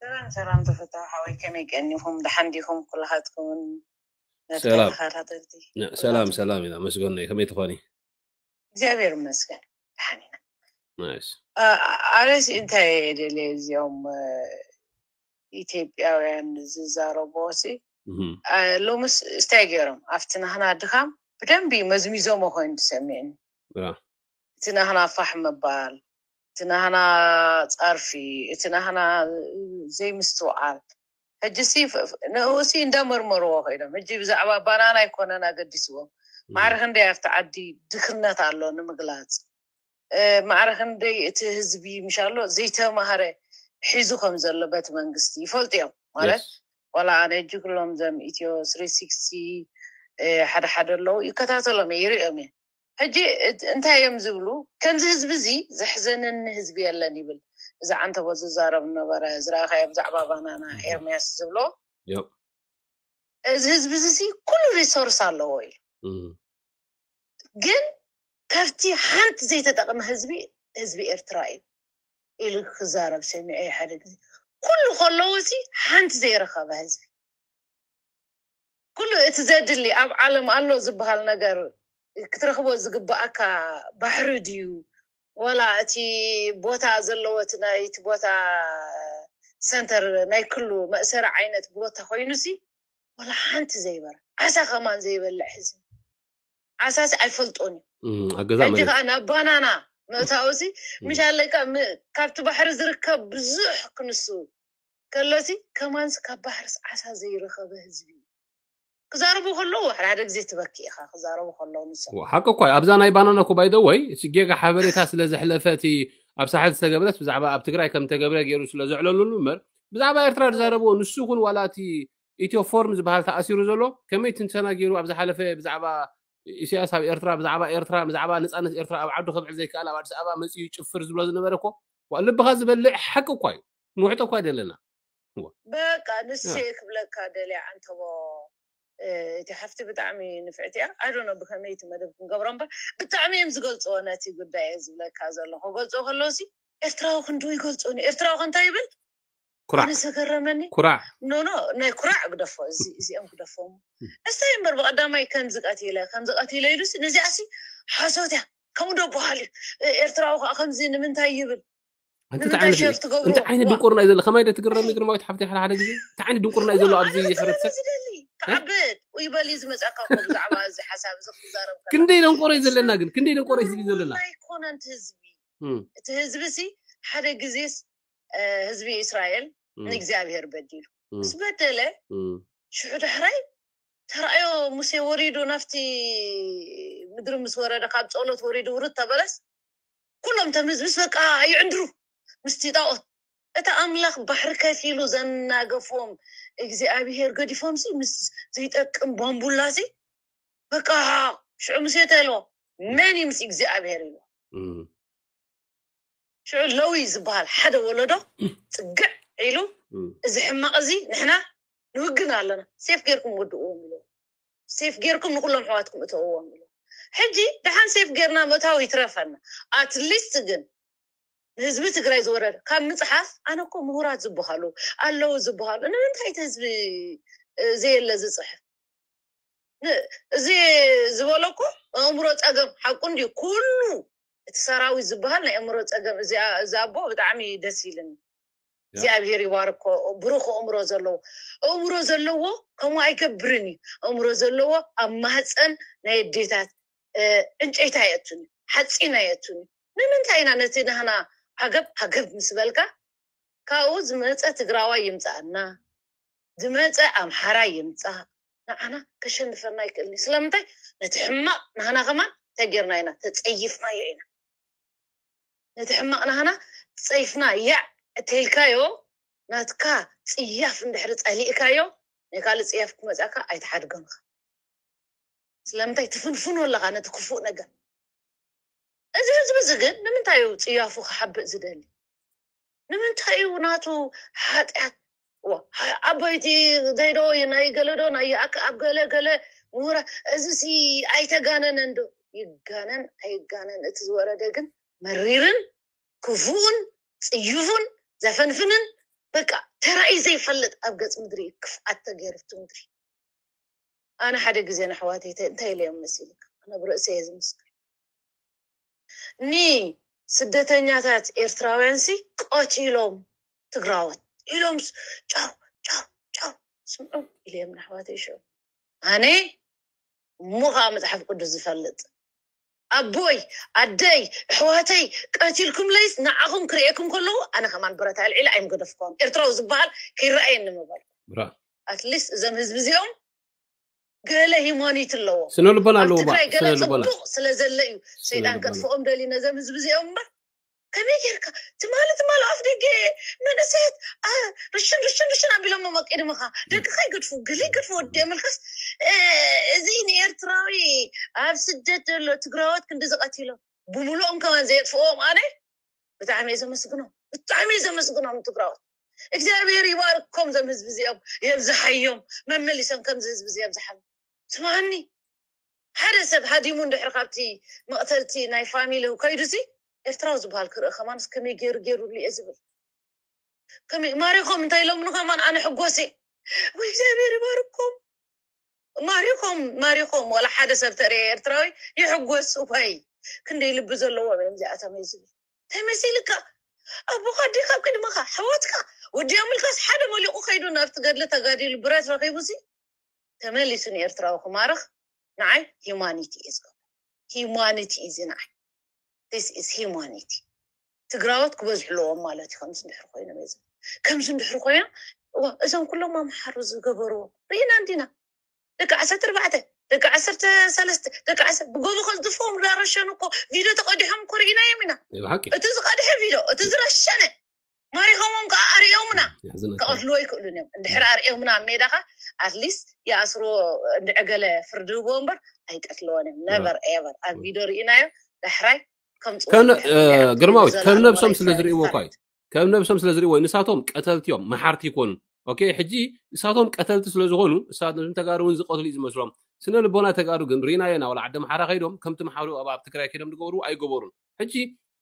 ሰላም ሰላም፣ ተፈታዊ ሓወይ፣ ከመይ ቀኒኹም? ደሓን ዲኹም ኩላኻትኩምን? ሰላም። ተኸታተልቲ ነ- ሰላም ሰላም ኢና መስገን ነይ ከመይ ትኾኒ? እግዚኣብሔር ይመስገን፣ ደሓን ኢና። ናይስ። ኣ- ኣነስ እንታይ ደልየ እዚኦም እ፣ ኢትዮጵያውያን ዝዛረብዎ ሲ እህም። ኣ፣ ሎምስ እስታይ ገይሮም ኣብቲ ናህና ድኻም ብደንቢ መዝሚዞሞ ኮይኑ ተሰሚዕኒ። ያ። እቲ ናህና ፋሕ ምባል፣ እቲ ናህና ጸርፊ፣ እቲ ናህና ዘይምስትውዓል። ሕጂ ሲ ፍ- ፍ- ንኡ ሲ እንዳመርመርዎ ኮይኖም ሕጂ ብዛዕባ ባናና ኣይኮነን ኣገዲስዎም። ማዕረ ክንደይ ኣብቲ ዓዲ ድኽነት ኣሎ ንምግላጽ። እ፣ ማዕረ ክንደይ እቲ ህዝቢ ምሻሎ ዘይተማህረ ሒዙ ከም ዘሎ በቲ መንግስቲ ይፈልጡ እዮም ማለት። የስ። ዋላ ኣነ ሕጂ ኩሎም ዘም ኢትዮ ስሪ ሲክስቲ እ፣ ሓደ ሓደ ኣለዉ ይከታተሎም እየ፣ ይርእዮም እየ። ሕጂ እት- እንታይ እዮም ዝብሉ? ከምዚ ህዝቢ እዚ ዘሕዘነኒ ህዝቢ የለን ይብል። እዚ ዓንተቦ ዝዛረብ ነበረ ዝረኣኻዮ ብዛዕባ ባናና እህ። ኤርሚያስ ዝብሎ ዮፕ። እዚ ህዝቢ እዚ ሲ ኩሉ ሪሶርስ ኣለዎ እዩ። እም። ግን ካብቲ ሓንቲ ዘይተጠቕመ ህዝቢ ህዝቢ ኤርትራ እዩ ኢሉ ክዛረብ ሰሚዐ ሓደ ግዜ። ኩሉ ከለዎ ሲ ሓንቲ ዘይረኸበ ህዝቢ ኩሉ እቲ ዘድሊ ኣብ ዓለም ኣሎ ዝበሃል ነገር ክትረኽቦ ዝግባኣካ ባሕሪ ድዩ ወላ እቲ ቦታ ዘለዎ እቲ ናይ እቲ ቦታ ሰንተር ናይ ኩሉ መእሰሪ ዓይነት ቦታ ኮይኑ ሲ ወላ ሓንቲ ዘይበረ ዓሳ ከማን ዘይበልዕ ህዝቢ ዓሳ ሲ ኣይፈልጦን እዩ። እም፣ ኣብ ገዛ ሕጂ መሬት ከዓ ናብ ባናና ምእታው ሲ እም፣ ምሻለይ ከዓ ም- ካብቲ ባሕሪ ዝርከብ ብዙሕ ክንሱ ከሎ ሲ ከማን ሲ ካብ ባሕርስ ዓሳ ዘይረኸበ ህዝቢ እዩ። ክዛረቡ ከለዉ ሓደ ሓደ ግዜ ትበኪ ኢኻ ክዛረቡ ከለዉ ንሶም። ዋ፣ ሓቂ እኳ እዩ። ኣብዛ ናይ ባናና እኮ ባይ ዘ ወይ እቲ ጌጋ ሓበሬታ ስለ ዘሕለፈ እቲ ኣብ ሳሕል ዝተገብረት ብዛዕባ ኣብ ትግራይ ከም ተገብረ ገይሩ ስለ ዘዕለሉሉ እምበር ብዛዕባ ኤርትራ ዝዛረብዎ ንሱ ይኹን ዋላ እቲ ኢትዮ ፎርም ዝበሃል ተኣሲሩ ዘሎ ከመይ ትንተና ገይሩ ኣብ ዝሓለፈ ብዛዕባ ኢሳያስ ኣብ ኤርትራ ብዛዕባ ኤርትራ ብዛዕባ ነፃነት ኤርትራ ኣብ ዓዱ ከብዕል ዘይከኣል ኣብ ኣዲስ ኣበባ መፂኡ ይጭፍር ዝብሎ ዝነበረ እኮ ዋ፣ ልብኻ ዝበልዕ ሓቂ እኳ እዩ። ንውሕጦ እኳ ኣይደለና። በቃ ንሴ ያ። ክብለካ ደልያ ዓንተቦ እ፣ እቲ ሓፍቲ ብጣዕሚ ንፍዕቲ እያ። ኣይ ዶንት ኖ ብከመይ እቲ መደብ ክንገብሮ እምበር ብጣዕሚ እዮም ዝገልፅዎ ነቲ ጉዳይ እየ ዝብለካ ዘሎ። ክገልፅዎ ከለዉ ሲ ኤርትራዊ ክንድኡ ይገልፅዎ ኒ ኤርትራዊ ከ እንታይ ይብል? ኩራዕ ኣነ ዘገረመኒ ኩራዕ ኖ ኖ ናይ ኩራዕ ግደፎ እዚ እዚኦም ግደፎም። እስታይ እምበር ብቀዳማይ ከምዚ ቀቲለ ከምዚ ቀቲለ ኢሉ ሲ ነዚኣ ሲ ሓሶት እያ ከምኡ ዶ በሃል እዩ እ፣ ኤርትራዊ ከዓ ከምዚ ንምንታይ ይብል ኣንቲ ንምንታይ እንታይ ዓይነት ሸር ትገብሩ እንታይ ዓይነት ዋ ድንቁርና እዩ ዘሎ ከማይ ዶ ትግረሚ ግርማዊት ሓፍቲ ሓደ ሓደ ግዜ እንታይ ዓይነት ድንቁርና እዩ ዘሎ ኣብዚ ኣነ ሕብረተሰብ ዝደሊ ክዓብጥ ወይ በል እዩ ዝመፀካ እኮ ብዛዕባ እዚ ሓሳብ እዚ ክትዛረብ ከለካ ክንደይ ደንቆሮ እዩ ዘለና ግን ክንደይ ደንቆሮ እዩ ዘለና ኣይኮነን እቲ ህዝቢ እም፣ እቲ ህዝቢ ሲ ሓደ ግዜስ እ፣ ህዝቢ እስራኤል እም፣ ንእግዚኣብሔር በዲሉ እም፣ ምስ በደለ እም፣ ሽዑ ዳሕራይ ተራእዮ ሙሴ ወሪዱ ናብቲ ምድሪ ምስ ወረደ ካብ ጸሎት ወሪዱ ውርድ ተበለስ ኩሎም ተምዝ ምስ በቃ ይዕንድሩ ምስቲ ጣዖት እቲ ኣምላኽ ባሕሪ ከፊሉ ዘናገፎም እግዚኣብሔር ገዲፎም ሲ ምስ ዘይጠቅም ባምቡላ ሲ በቃ ሽዑ ሙሴ ተሎ መን እዩ ምስ እግዚኣብሔር ኢሉ እም፣ ሽዑ ለዊ ዝበሃል ሓደ ወለዶ ፅግዕ ኢሉ እም፣ እዚ ሕማቕ እዚ ንሕና ንውግን ኣለና ሴፍ ጌርኩም ወድእዎም ኢሉ ሴፍ ጌርኩም ንኩሎም ኣሕዋትኩም እተውዎም ኢሉ ሕጂ ደሓን ሴፍ ጌርና ምእታው ይትረፈና ኣትሊስት ግን ንህዝቢ ትግራይ ዝወረደ ካብ ምፅሓፍ ኣነ እኮ ምሁራት ዝበሃሉ ኣለዉ ዝበሃሉ ንምንታይ እቲ ህዝቢ እ፣ ዘየለ ዝፅሕፍ ን- እዚ ዝበሎ እኮ ኣእምሮ ፀገም ሓቁ እንዲ ኩሉ እቲ ሰራዊት ዝበሃል ናይ ኣእምሮ ፀገም እዚ እዚ ኣቦ ብጣዕሚ ደስ ኢልኒ ያ። እግዚኣብሔር ይባርኮ ብሩክ ኣእምሮ ዘለዎ ኣእምሮ ዘለዎ ከምኡ ኣይገብርን እዩ ኣእምሮ ዘለዎ ኣብ ማህፀን ናይ ኣዴታት እ፣ ዕንጨይቲ ኣየቱን እዩ ሓፂን ኣየቱን እዩ ንምንታይ ኢና ነቲ ናህና ዓገብ ዓገብ ምስ በልካ ካብኡ ዝመፀ ትግራዋይ ይምፃኣና ዝመፀ ኣምሓራ ይምፃእ ንዓና ከሸንፈና ይክእል እዩ ስለምንታይ ነቲ ሕማቅ ናህና ከማን እንታይ ጌርና ኢና ተፀይፍናዮ ኢና ነቲ ሕማቅ ናህና ፀይፍና ያዕ እተይልካዮ ናትካ ፅያፍ እንድሕሪ ፀሊእካዮ ናይ ካልእ ፅያፍ ክመፃካ ኣይትሓድጎንካ ስለምንታይ ትፍንፍኖ ኣለካ ነቲ ክፉእ ነገር እዚ ህዝቢ እዚ ግን ንምንታይ እዩ ፅያፉ ክሓብእ ዝደሊ ንምንታይ እዩ ናቱ ሓጢኣት ዓበይቲ ዘይዶ ናይ ገለዶ ናይ ይኣክ ኣብ ገለ ገለ ምሁራ እዚ ሲ ኣይተጋነነን ዶ ይጋነን ኣይጋነን እቲ ዝወረደ ግን መሪርን ክፉኡን ፅዩፉን ዘፈንፍንን በቃ ተራእዩ ዘይፈልጥ ኣብ ገጽ ምድሪ እዩ ክፍኣት ተገይሩ ኣብቲ ምድሪ። ኣነ ሓደ ግዜ ንኣሕዋተይ እንታይ ኢለዮም መሲልካ? ኣነ ብርእሰይ እየ ዝምስክር። ኒ ስደተኛታት ኤርትራውያን ሲ ቀቲሎም ትግራዎት ኢሎም ጫው ጫው ጫው ስምዑ ኢለዮም ንኣሕዋተይ ሽዑ። ኣነ እሞ ከዓ መፅሓፍ ቅዱስ ዝፈልጥ ኣቦይ ኣደይ ኣሕዋተይ ቀቲልኩም ለይስ ንዓኹም ክርእየኩም ከለዉ ኣነ ከማን ብረት ኣልዒለ ኣይምገደፍኮም። ኤርትራዊ ዝበሃል ከይረኣየኒ ምበል። ኣትሊስት እዞም ህዝቢ እዚኦም ገለ ሂማኒት ኣለዎ። ስነ ልቦና ኣለዎ። ትግራይ ገለ ፅቡቅ ስለ ዘለ እዩ ሰይጣን ከጥፍኦም ደሊ ነዞም ህዝቢ እዚኦም እምበር ከመይ ጌርካ ትማሊ ትማሊ ኣፍ ደገ መንእሰያት ርሽን ርሽን ርሽን ኣቢሎም መቂድምኻ ደቅኻ ይገድፉ ገለ ይገድፉ ወዲ ምልካስ እዚ ንኤርትራዊ ኣብ ስደት ዘሎ ትግራዎት ክንዲ ዝቀቲሎም ብምሉኦም ከማን ዘየጥፍኦም ኣነ ብጣዕሚ እየ ዘመስግኖም ብጣዕሚ እየ ዘመስግኖም ትግራዎት። እግዚኣብሔር ይባርኮም ዘም ህዝቢ እዚኦም የብዝሓዮም መመሊሶም ከምዚ ህዝቢ እዚ የብዝሓሉ። ስማኒ ሓደ ሰብ ሃዲሙ እንድሕር ካብቲ መቕተልቲ ናይ ፋሚሊ ከይዱ ሲ ኤርትራዊ ዝበሃል ክርኢ ከማን ከመይ ገይሩ ገይሩሉ እየ ዝብል። ከመይ ማሪኾም እንታይ ኢሎምኒ ከማን ኣነ ሕጎስ እየ። ወይ እግዚኣብሔር ይባርኮም። ማሪኾም ማሪኾም ዋላ ሓደ ሰብ ተርእየ ኤርትራዊ ይሕጎስ። እዋይ ክንደይ ልቢ ዘለዎም እዮም እዚኣቶም እየ ዝብል። እንታይ መሲልካ ኣቦኻ ኣዴኻ ኣብ ቅድመኻ ኣሕዋትካ ወዲኦምልካስ ሓደ መሊቑ ከይዱ ናብቲ ገድሊ ተጋዲሉ ብረት ረኺቡ ሲ ተመሊሱ ንኤርትራዊ ክማርኽ ንዓይ ሂማኒቲ እዩ ዝገብሮ። ሂማኒቲ እዩ እዚ ንዓይ this is humanity። ትግራዎት ክበዝሑ ኣለዎም ማለት እዩ። ከምዚ እንድሕር ኮይኖም እዚ ከምዚ እንድሕር ኮይኖም እዋ እዞም ኩሎም ኣምሓሩ ዝገበርዎ ርኢና እንዲና። ደቂ ዓሰርተ ኣርባዕተ ደቂ ዓሰርተ ሰለስተ ደቂ ዓሰርተ ብጎቦ ከዝድፍኦም እንዳረሸኑ እኮ ቪድዮ ተቀዲሖም እኮ ርኢናዮም ኢና። ብሓቂ እቲ ዝቀድሐ ቪድዮ እቲ ዝረሸነ ማሪኾሞም ከዓ ኣርእዮምና። ያዝነካ ክቐትልዎ ይክእሉን እዮም። እንድሕር ኣርእዮምና ኣብ ሜዳኻ ኣትሊስት ይኣስርዎ እንድዕገለ ፍርዲ ህብዎ እምበር ኣይቀትልዎን እዮም። ነቨር ኤቨር ኣብ ቪድዮ ርኢናዮ ዳሕራይ ከምፅኡ ከም እ፣ እዮም። ግርማዊት ከም ዘላለም ነብሶም መላእክት ስለ ዝርእይዎ እኳ ይባርክ። እዩ ከም ነብሶም ስለ ዝርእይዎ ንሳቶም ቀተልቲ እዮም መሓርቲ ይኮኑ። ኦኬ ሕጂ ንሳቶም ቀተልቲ ስለ ዝኾኑ ንሳቶም ተጋሩ እውን ዝቀትሉ እዩ ዝመስሎም። ስነ ልቦና ተጋሩ ግን ርኢናዮ ኢና። ዋላ ዓዲ ኣምሓራ ከይዶም ከምቲ ኣምሓሩ ኣብ ኣብ ትግራይ ከይዶም ዝገብሩ ኣይገበሩን። ሕጂ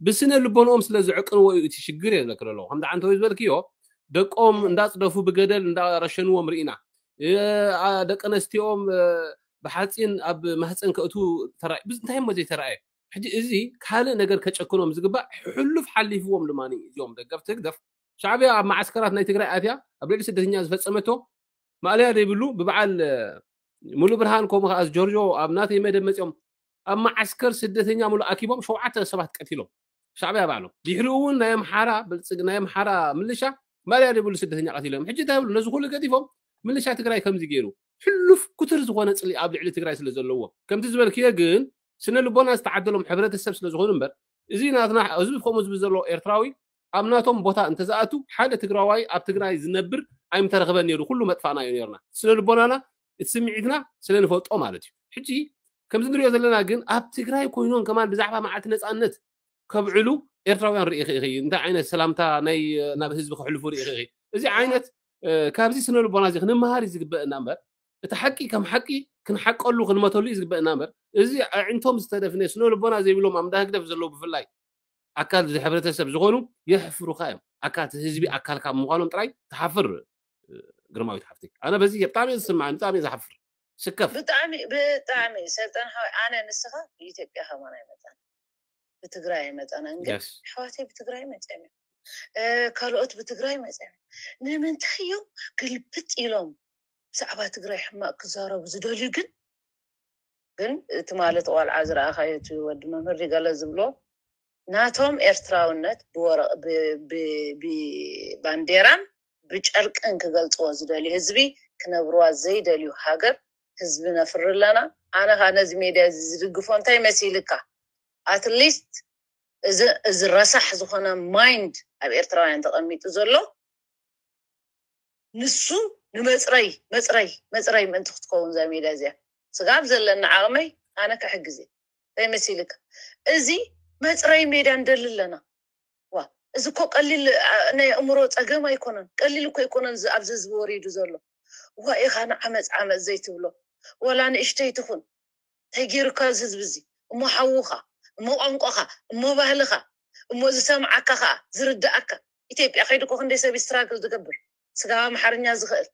ብስነ ልቦንኦም ስለ ዝዕቅንዎ እዩ እቲ ሽግር እየ ዝብለኪ ዘለኹ። ከምዚ ዓንተወይ ዝበልክዮ ደቆም እንዳፅደፉ ብገደል እንዳረሸንዎም ርኢና። እ፣ ኣ፣ ደቂ ኣነስትዮኦም እ፣ ብሓፂን ኣብ ማህፀን ከእቱ ተራእዩ። ብዝ- እንታይ እሞ ዘይተራእየ? ሕጂ እዚ ካልእ ነገር ከጨክኖም ዝግባእ ሕሉፍ ሓሊፍዎም ድማ እዚኦም ደገፍቲ ህግደፍ። ሻዕብያ ኣብ መዓስከራት ናይ ትግራይ ኣትያ ኣብ ልዕሊ ስደተኛ ዝፈፀመቶ ማእለያ ዘይብሉ ብበዓል እ፣ ሙሉ ብርሃን ከምኡ ከዓ ጆርጆ ኣብ ናተይ መደብ መፂኦም ኣብ መዓስከር ስደተኛ ሙሉ ኣኪቦም ሸውዓተ ሰባት ቀቲሎም ሻዕብያ ባዕሎም። ድሕሪኡ እውን ናይ ኣምሓራ ብልፅግ ናይ ኣምሓራ ምልሻ ማእለያ ዘይብሉ ስደተኛ ቀቲሎም። ሕጂ እንታይ ይብሉ? ነዚ ኩሉ ገዲፎም ምልሻ ትግራይ ከምዚ ገይሩ ሕሉፍ ኩትር ዝኾነ ፅሊ ኣብ ልዕሊ ትግራይ ስለ ዘለዎ ከምቲ ዝበልክዮ ግን ስነ ልቦና ዝተዓደሎም ሕብረተሰብ ስለ ዝኾኑ እምበር እዚ ናትና ህዝቢ ከምኡ ዝብል ዘሎ ኤርትራዊ ኣብ ናቶም ቦታ እንተዝኣቱ ሓደ ትግራዋይ ኣብ ትግራይ ዝነብር ኣይምተረኽበን ነይሩ። ኩሉ መጥፋእናዮ ነርና። ስነ ልቦናና እቲ ስምዒትና ስለ ንፈልጦ ማለት እዩ። ሕጂ ከምዚ ንሪኦ ዘለና ግን ኣብ ትግራይ ኮይኖም ከማን ብዛዕባ መዓልቲ ነፃነት ከብዕሉ ኤርትራውያን ርኢኺ ኢኺ። እንታይ ዓይነት ሰላምታ ናይ ናብ ህዝቢ ከሕልፉ ርኢኺ ኢኺ። እዚ ዓይነት እ፣ ካብዚ ስነ ልቦና እዚ ክንመሃር እዩ ዝግበአና እምበር እቲ ሓቂ ከም ሓቂ ክንሓቀሉ ክንመተሉ እዩ ዝግበአና እምበር እዚ ኣዒንቶም ዝተደፍነ ስነ ልቦና ዘይብሎም ኣብ እንዳ ህግደፍ ዘለዉ ብፍላይ ኣካል እዚ ሕብረተሰብ ዝኾኑ የሕፍሩኻ እዮም። ኣካል እቲ ህዝቢ ኣካል ካብ ምዃኖም ጥራይ ትሓፍር። እ፣ ግርማዊት ሓፍቲ ኣነ በዚ ብጣዕሚ እየ ዝስምዓኒ ብጣዕሚ እየ ዝሓፍር። ስከፍ ብጣዕሚ ብጣዕሚ ሰልጠን ሓወይ ኣነ ንስኻ ብኢትዮጵያ ከማን ኣይመፃን ብትግራይ ኣይመፃናን ግን Yes. ኣሕዋተይ ብትግራይ መፅኦም እዮም እ፣ ካልኦት ብትግራይ መፅኦም እዮም ንምንታይ እዮም ግልብጥ ኢሎም ብዛዕባ ትግራይ ሕማቅ ክዛረቡ ዝደልዩ ግን ግን እቲ ማለት ቆልዓ ዝረኣኻዮ እቲ ወዲ መምህር ገለ ዝብሎ ናቶም ኤርትራውነት ብወረቕ ብ- ብ- ብባንዴራን ብጨርቅን ክገልፅዎ ዝደልዩ ህዝቢ ክነብርዋ ዘይደልዩ ሃገር ህዝቢ ነፍሪ ኣለና ኣነ ከዓ ነዚ ሜድያ እዚ ዝድግፎ እንታይ መሲልካ ኣትሊስት እዚ እዚ ረሳሕ ዝኾነ ማይንድ ኣብ ኤርትራውያን ተቐሚጡ ዘሎ ንሱ ንመፅረይ መፅረይ መፅረይ ምእንቲ ክትከውን እዛ ሜድያ እዚኣ ስጋብ ዘለኒ ዓቕመይ ኣነ ክሕግዝ እየ እንታይ መሲልካ እዚ መፅረይ ሜድያ ንደሊ ኣለና ዋ እዚ እኮ ቀሊል አ፣ ናይ ኣእምሮ ፀገም ኣይኮነን ቀሊል እኮ ኣይኮነን እዚ ኣብዚ ህዝቢ ወሪዱ ዘሎ ዋ ኢኻ ንዓመፅ ዓመፅ ዘይትብሎ ወላ ንእሽተይ ትኹን እንታይ ገይሩካ እዚ ህዝቢ እዚ እሞ ሓውኻ እሞ ቋንቋኻ እሞ ባህልኻ እሞ ዝሰምዓካ ከዓ ዝርድኣካ ኢትዮጵያ ከይዱ እኮ ክንደይ ሰብ ስትራግል ዝገብር፣ ስጋብ ኣምሓርኛ ዝኽእል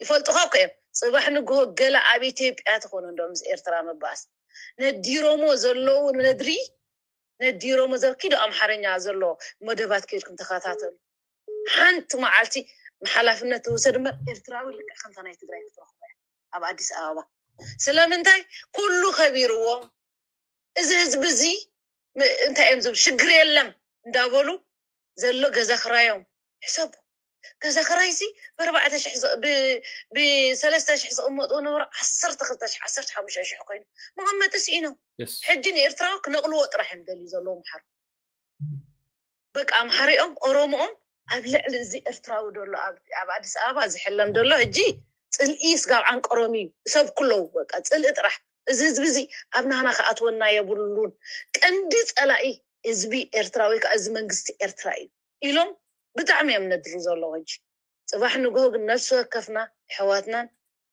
ይፈልጡኻ እኮ እዮም። ጽባሕ ንግሆ ገለ ኣብ ኢትዮጵያ ትኾኑ እንዶ ምስ ኤርትራ መባኣስ ነዲሮሞ ዘለዉ ነድሪ ነዲሮሞ ዘ ኪዶ ኣምሓርኛ ዘሎ መደባት ከይድኩም ተኸታተሉ። ሓንቲ መዓልቲ ንሓላፍነት ትውሰድ እምበር ኤርትራዊ ልክዕ ከምታ ናይ ትግራይ ክትረኽቦ እያ ኣብ ኣዲስ ኣበባ። ስለምንታይ ኩሉ ከቢርዎም፣ እዚ ህዝቢ እዚ ም- እንታይ እዮም ዝብል ሽግር የለም እንዳበሉ ዘሎ ገዛ ክራዮም ሕሰቡ። ገዛ ክራይ ሲ ብኣርባዕተ ሽሕ ዝ- ብ- ብሰለስተ ሽሕ ዝቕመጡ ነበሩ ዓሰርተ ክልተ ሽሕ ዓሰርተ ሓሙሽተ ሽሕ ኮይኑ መቐመጢ ስኢኖም። የስ ሕጂ ንኤርትራዊ ክነቕልዎ ጥራሕ እዮም ደልዩ ዘለዉ ምሓሩ። በቃ ኣምሓሪኦም ኦሮሞኦም ኣብ ልዕሊ እዚ ኤርትራዊ ደሎ ኣብ ኣብ ኣዲስ ኣበባ ዝሕለም ደሎ ሕጂ ጽልኢ ስጋብ ዓንቀሮም እዩ። ሰብ ኩለው በቃ ጽልኢ ጥራሕ። እዚ ህዝቢ እዚ ኣብ ናህና ክኣትወና የብሉን። ቀንዲ ጸላኢ ህዝቢ ኤርትራ ወይ ከዓ እዚ መንግስቲ ኤርትራ እዩ ኢሎም ብጣዕሚ እዮም ነድሩ ዘለዉ። ሕጂ ጽባሕ ንግሆ ግን ነፍሲ ወከፍና ኣሕዋትናን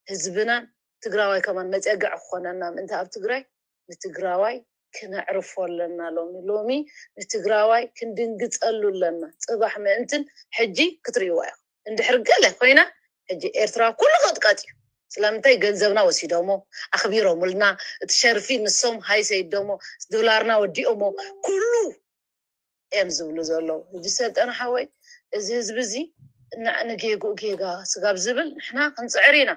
ህዝብናን ትግራዋይ ከማን መፀግዒ ክኾነና ምእንቲ ኣብ ትግራይ ንትግራዋይ ክነዕርፎ ኣለና። ሎሚ ሎሚ ንትግራዋይ ክንድንግፀሉ ኣለና። ፅባሕ ምእንትን ሕጂ ክትርእይዋ ኢኹም። እንድሕር ገለ ኮይና ሕጂ ኤርትራ ኩሉ ቀጥቀጥ እዩ። ስለምንታይ ገንዘብና ወሲዶሞ ኣኽቢሮምልና እቲ ሸርፊ ንሶም ሃይ ሰይዶሞ ዶላርና ወዲኦሞ ኩሉ እዮም ዝብሉ ዘለዉ። ሕጂ ሰልጠነ ሓወይ እዚ ህዝቢ እዚ እናዕ ንጌግኡ ጌጋ ስጋብ ዝብል ንሕና ክንፅዕር ኢና።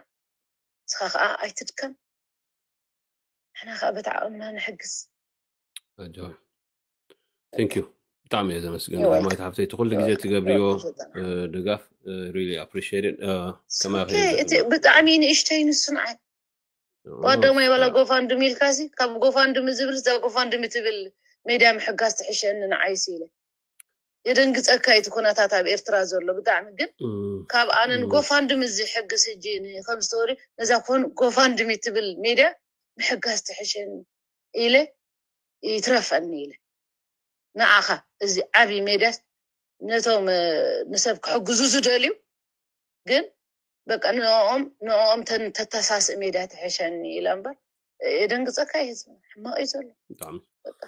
ንስኻ ከዓ ኣይትድከም። ንሕና ከዓ በቲ ዓቕምና ንሕግዝ። ቴንክ ዩ። ብጣዕሚ እየ ዘመስግን ማይት ሓፍተይ እቲ ኩሉ ግዜ ትገብርዮ ድጋፍ ሪሊ ኣፕሪሽት። ከማይ እቲ ብጣዕሚ ንእሽተይ ንሱ ንዓይ ዋደሞ ይበላ ጎፋንድሚ ኢልካሲ ካብ ጎፋንድሚ ዝብል እዛ ጎፋንድሚ ትብል ሜድያ ምሕጋዝ ትሕሸኒ ንዓይሲ ኢለ የደንግፀካ እቲ ኩነታት ኣብ ኤርትራ ዘሎ ብጣዕሚ ግን ካብ ኣነን ጎፋንድሚ ዝሕግዝ ሕጂ ከም ስቶሪ ነዛ ኮን ጎፋንድሚ ትብል ሜድያ ምሕጋዝ ትሕሸኒ ኢለ ይትረፈኒ ኢለ ንዓኻ እዚ ዓብዪ ሜድያ ነቶም ንሰብ ክሕግዙ ዝደልዩ ግን በቃ ንኦም ንኦም ተተሳስእ ሜድያ ትሕሸኒ ኢለ እምበር የደንግፀካ እዩ ህዝቢ ሕማቕ እዩ ዘሎ። ብጣዕሚ በቃ